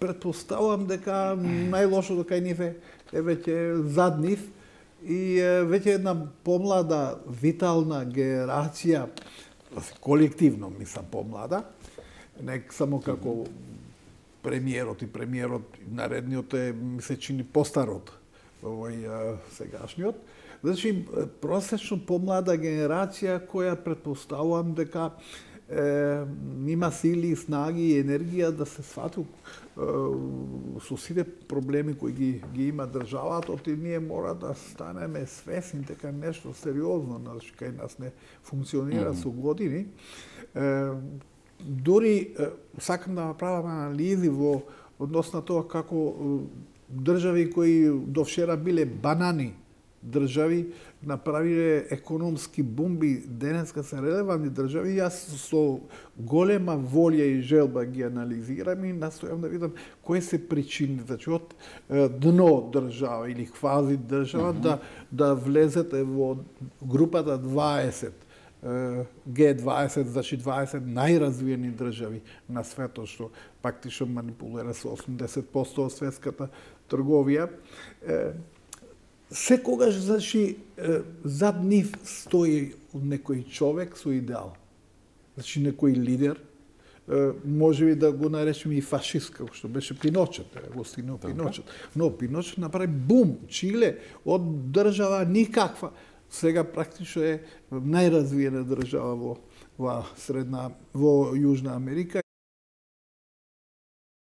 Претпоставувам дека најлошото кај нив е веќе зад нив и веќе една помлада, витална генерација, колективно мислам помлада, не само како премиерот наредниот ми се чини постар од овој сегашниот. Значи, просечно помлада генерација која претпоставувам дека има сили, снаги и енергија да се свати со сите проблеми кои ги има државата, и ние мора да станеме свесни дека нешто сериозно кај нас не функционира со години. Дури сакам да направам анализи во однос на тоа како држави кои до вчера биле банани држави направиле економски бумби, денеска се релевантни држави. Јас со голема волја и желба ги анализирам и настојам да видам кои се причини, значи од дно држава или квази држава да влезете во групата 20, Г20, значи 20 најразвиени држави на светот, што практично манипулира со 80% од светската трговија. Секогаш, значи, зад нив стои некој човек со идеал. Значи, некој лидер, можеби да го наречеме и фашист, како што беше Пиночет, Агостино Пиночет. Но Пиночет направи бум. Чиле од држава никаква, сега практично е најразвиена држава во Јужна Америка